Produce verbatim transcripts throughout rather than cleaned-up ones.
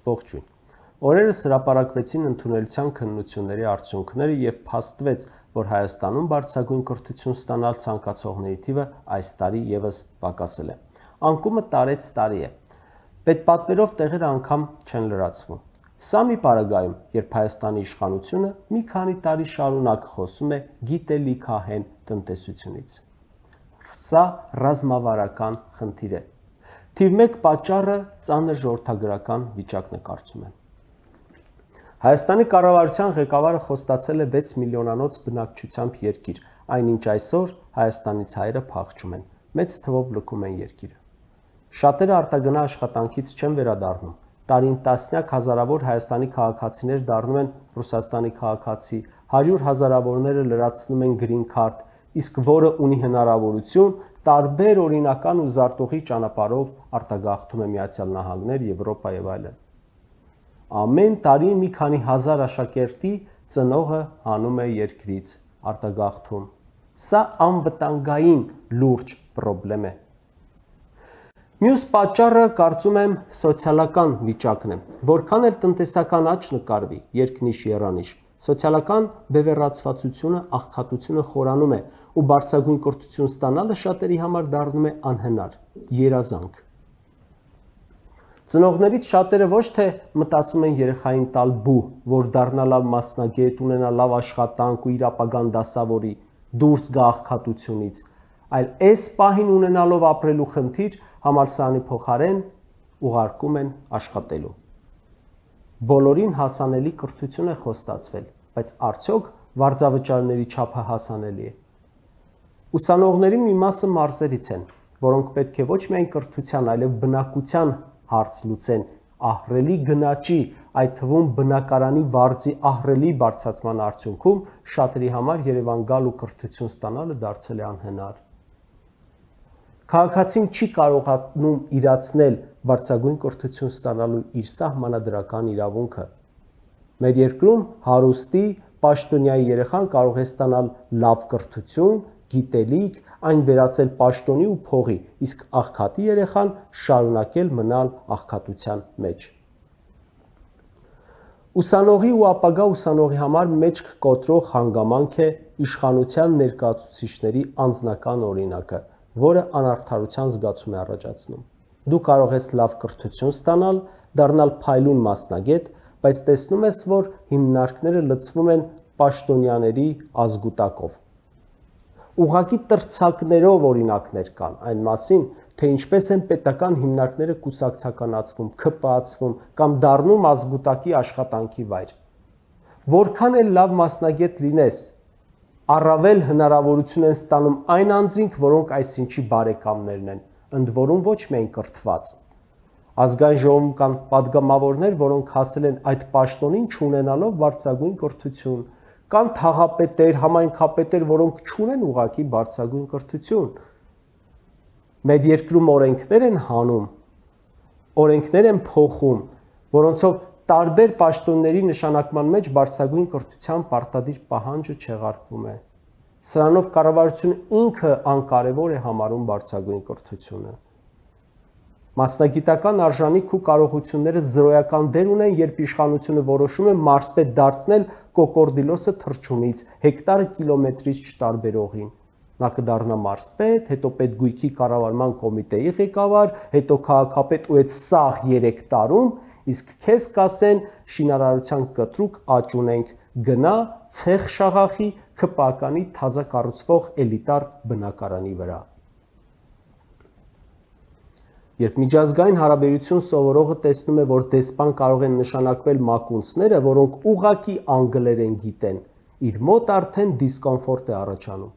Ողջույն։ Օրերս հրապարակվեցին ընդունելության քննությունների արդյունքները և փաստվեց, որ Հայաստանում բարձրագույն կրթություն ստանալ ցանկացողների թիվը այս տարի ևս պակասել է։ Անկումը տարեց տարի է։ Պետպատվերով տեղերը անգամ չեն լրացվում։ Սա մի պարագայում, երբ Հայաստանի իշխանությունը մի քանի տարի շարունակ խոսում է գիտելիքահեն տնտեսությունից։ Սա ռազմավարական խնդիր է։ Թիվ մեկ պատճառը ծանր ժողովրդագրական վիճակն է կարծում եմ։ Հայաստանի կառավարության ղեկավարը խոստացել է վեց միլիոնանոց բնակչությամբ երկիր, այնինչ այսօր Հայաստանից հայերը փախչում են, մեծ թվով լքում են երկիրը։ Շատերը արտագնա աշխատանքից չեն վերադառնում, տարին տասնյակ հազարավոր Հայաստանի քաղաքացիներ դառնում են Ռուսաստանի քաղաքացի, հարյուր հազարավորները լրացնում են գրին քարտ, իսկ որը ունի հնարավորություն, տարբեր օրինական ու զարտուղի ճանապարհով արտագաղթում է Միացյալ Նահանգներ, Եվրոպա եւ այլն։ Ամեն տարի մի քանի հազար աշակերտի ծնողը հանում է երկրից, արտագաղթում։ Սա անվտանգային լուրջ խնդրեմ է։ Մյուս պատճառը, կարծում եմ, սոցիալական վիճակն է։ Որքան էլ տնտեսական աճ նկարվի, երկնիշ եռանիշ, սոցիալական բևեռացվածությունը, աղքատությունը խորանում է, ու բարձրագույն կրթություն ստանալը շատերի համար դառնում է անհնար, երազանք։ Ծնողներից շատերը ոչ թե մտածում են երեխային տալ բու, որ դառնա լավ մասնագետ, ունենա լավ աշխատանք ու իր ապագան դասավորի, դուրս գա աղքատությունից, այլ այս պահին ունենալով ապրելու խնդիր համալսարանի փոխարեն ուղարկում են աշխատելու։ Բոլորին հասանելի կրթություն է խոստացվել, բայց արդյոք վարձավճարների չափը հասանելի է։ Ուսանողների մի մասը մարզերից են, որոնք պետք է ոչ միայն կրթության, այլև բնակության հարց լուծեն, ահռելի գնաճի, այդ թվում բնակարանի վարձի ահռելի բարձրացման արդյունքում շատերի համար Երևան գալ ու կրթություն ստանալը դարձել է անհնար։ Քաղաքացին չի կարողանում իրացնել բարձրագույն կրթություն ստանալու իր սահմանադրական իրավունքը։ Մեր երկրում հարուստի, պաշտոնյայի երեխան կարող է ստանալ լավ կրթություն, գիտելիք, այն վերածել պաշտոնի ու փողի, իսկ աղքատի երեխան շարունակել մնալ աղքատության մեջ։ Ուսանողի ու ապագա ուսանողի համար մեջք կոտրող հանգամանք է իշխանության ներկայացուցիչների անձնական օրինակը, որը անարդարության զգացում է առաջացնում։ Դու կարող ես լավ կրթություն ստանալ, դառնալ փայլուն մասնագետ, բայց տեսնում ես, որ հիմնարկները լցվում են պաշտոնյաների ազգուտակով։ Ուղղակի տրցակներով օրինակներ կան այն մասին, թե ինչպես են պետական հիմնարկները կուսակցականացվում, քպացվում կամ դառնում ազգուտակի աշխատանքի վայր։ Որքան էլ լավ մասնագետ լինես, առավել հնարավորություն են ստանում այն անձինք, որոնք այսինչի բարեկամներն են, ընդ որում ոչ միայն կրթված։ Ազգային ժողովում կան պատգամավորներ, որոնք հասել են այդ պաշտոնին չունենալով բարձրագույն կրթություն, կան թաղապետեր, համայնքապետեր, որոնք չունեն ուղղակի բարձրագույն կրթություն։ Մեր երկրում օրենքներ են հանում, օրենքներ են փոխում, որոնցով տարբեր պաշտոնների նշանակման մեջ բարձրագույն կրթության պարտադիր պահանջը չեղարկվում է։ Սրանով կառավարությունը ինքը անկարևոր է համարում բարձրագույն կրթությունը։ Մասնագիտական արժանիք ու կարողությունները զրոյական դեր ունեն, երբ իշխանությունը որոշում է մարզպետ դարձնել կոկորդիլոսը թռչունից, հեկտարը կիլոմետրից չտարբերողին։ Նա կդառնա մարզպետ, հետո պետգույքի կառավարման կոմիտեի ղեկավար, հետո քաղաքապետ ու այդ սաղ երեք տարում, իսկ քեզ կասեն շինարարության կտրուկ աճ ունենք, գնա ցեխ շաղախի ՔՊԱ-կանի թազա կառուցվող էլիտար բնակարանի վրա։ Երբ միջազգային հարաբերություն սովորողը տեսնում է, որ դեսպան կարող են նշանակվել մակունցները, որոնք ուղղակի անգլերեն գիտեն, իր մոտ արդեն դիսկոմֆորտ է առաջանում։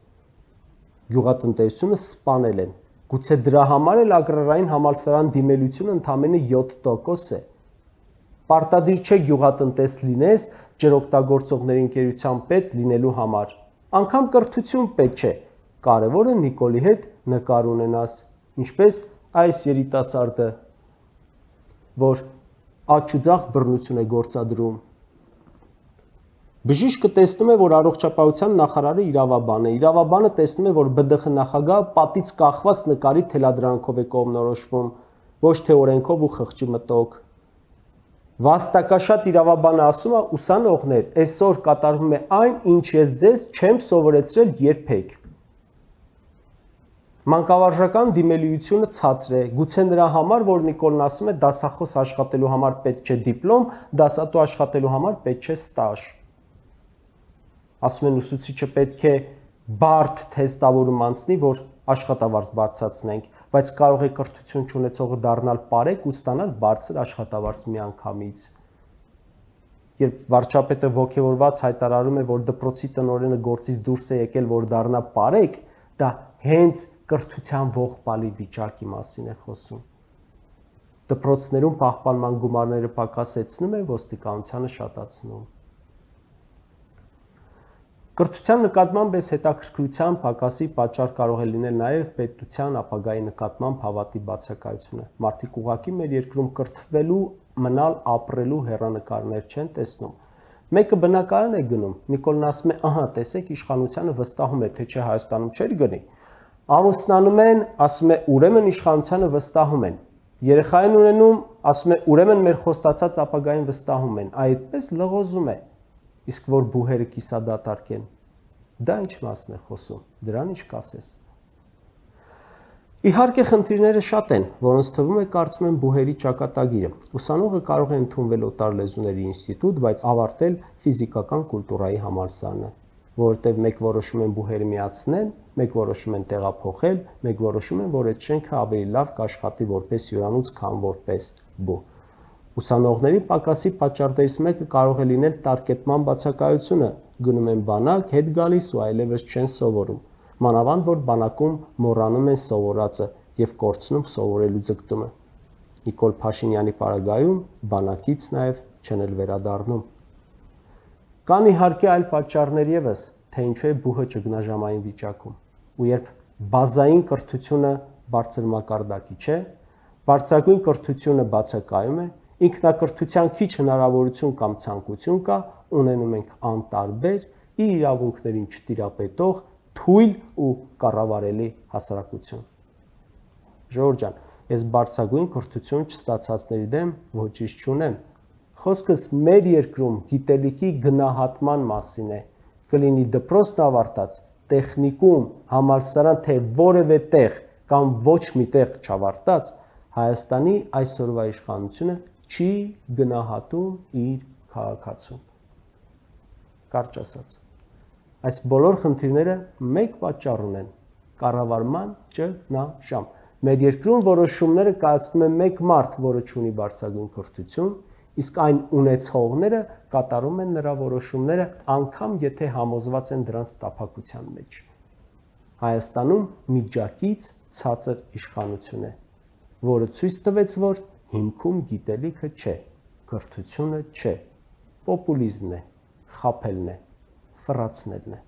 Գյուղատնտեսությունը սպանել են, գուցե դրա համար էլ ագրարային համալսարան դիմելությունը ընդամենը յոթ տոկոս է։ Պարտադիր չէ գյուղատնտես լինես ջրօգտագործողների ընկերության պետ լինելու համար։ Անգամ կրթություն պետք չէ։ Կարևորը Նիկոլի հետ նկար ունենաս, ինչպես այս երիտասարդը, որ աչուձախ բռնություն է գործադրում։ Բժիշկը տեսնում է, որ առողջապահության նախարարը իրավաբան է, իրավաբանը տեսնում է, որ ԲԴԽ նախագահը պատից կախված նկարի թելադրանքով է կողմնորոշվում, ոչ թե օրենքով ու խղճի մտոք։ Վաստակաշատ իրավաբանը ասում է, ուսանողներ, այսօր կատարվում է այն, ինչ ես ձեզ չեմ սովորեցրել երբեք։ Մանկավարժական դիմելիությունը ցածր է, գուցե նրա համար, որ Նիկոլն ասում է, դասախոս աշխատելու համար պետք չէ դիպլոմ, դասատու աշխատելու համար պետք չէ ստաժ։ Ասում են ուսուցիչը պետք է բարդ թեստավորում անցնի, որ աշխատավարձ բարձրացնենք, բայց կարող է կրթություն չունեցողը դառնալ պարեկ ու ստանալ բարձր աշխատավարձ միանգամից։ Երբ վարչապետը ոգևորված հայտարարում է, որ դպրոցի տնօրենը գործից դուրս է եկել, որ դառնա պարեկ, դա հենց կրթության ողբալի վիճակի մասին է խոսում։ Դպրոցներում պահպանման գումարները պակասեցնում են, ոստիկանությանը շատացնում։ Կրթության նկատմամբ այս հետաքրքրության պակասի պատճառ կարող է լինել նաև պետության ապագայի նկատմամբ հավատի բացակայությունը։ Մարդիկ ուղղակի մեր երկրում կրթվելու, մնալ, ապրելու հեռանկարներ չեն տեսնում։ Մեկը բնակարան է գնում, Նիկոլն ասում է, ահա, տեսեք, իշխանությանը վստահում է, թե չէ Հայաստանում չէր գնի։ Ամուսնանում են, ասում է, ուրեմն իշխանությանը վստահում են։ Երեխա են ունենում, ասում է, ուրեմն մեր խոստացած ապագային վստահում են։ Այդպես լղոզում է։ Իսկ որ բուհերը կիսադատարկ են, դա ինչ մասն է խոսում, դրան ինչ կասես։ Իհարկե խնդիրները շատ են, որոնց թվում է կարծում եմ բուհերի ճակատագիրը։ Ուսանողը կարող է ընդունվել օտար լեզուների ինստիտուտ, բայց ավարտել ֆիզիկական կուլտուրայի համալսարանը, որովհետև մեկ որոշում են բուհերը միացնեն, մեկ որոշում են տեղափոխել, մեկ որոշում են, որ այդ շենքը ավելի լավ կաշխատի որպես հյուրանոց, քան որպես բուհ։ Ուսանողների պակասի պատճառներից մեկը կարող է լինել տարկետման բացակայությունը, գնում են բանակ, հետ գալիս ու այլևս չեն սովորում, մանավանդ որ բանակում մոռանում են սովորածը եւ կորցնում սովորելու ձգտումը։ Նիկոլ Փաշինյանի պարագայում բանակից նաեւ չեն էլ վերադառնում։ Կան իհարկե այլ պատճառներ եւս, թե ինչու է բուհը ճգնաժամային վիճակում, ու երբ բազային կրթությունը բարձր մակարդակի չէ, բարձրագույն կրթությունը բացակայում է, ինքնակրթության քիչ հնարավորություն կամ ցանկություն կա, ունենում ենք անտարբեր, իր իրավունքներին չտիրապետող, թույլ ու կառավարելի հասարակություն։ Ժողովուրդ ջան, ես բարձրագույն կրթություն չստացածների դեմ ոչինչ չունեմ։ Խոսքս մեր երկրում գիտելիքի գնահատման մասին է, կլինի դպրոցն ավարտած, տեխնիկում, համալսարան, թե որևէ տեղ կամ ոչ մի տեղ չավարտած, Հայաստանի այսօրվա իշխանությունը չի գնահատում իր քաղաքացուն։ Կարճ ասած, այս բոլոր խնդիրները մեկ պատճառ ունեն՝ կառավարման ճգնաժամ։ Մեր երկրում որոշումները կայացնում է մեկ մարդ, որը ունի բարձրագույն կրթություն, իսկ այն ունեցողները կատարում են նրա որոշումները, անգամ եթե համոզված են դրանց տափակության մեջ։ Հայաստանում միջակից ցածր իշխանություն է, որը ցույց տվեց, որ հիմքում գիտելիքը չէ, կրթությունը չէ, պոպուլիզմն է, խաբելն է, ֆռացնելն է։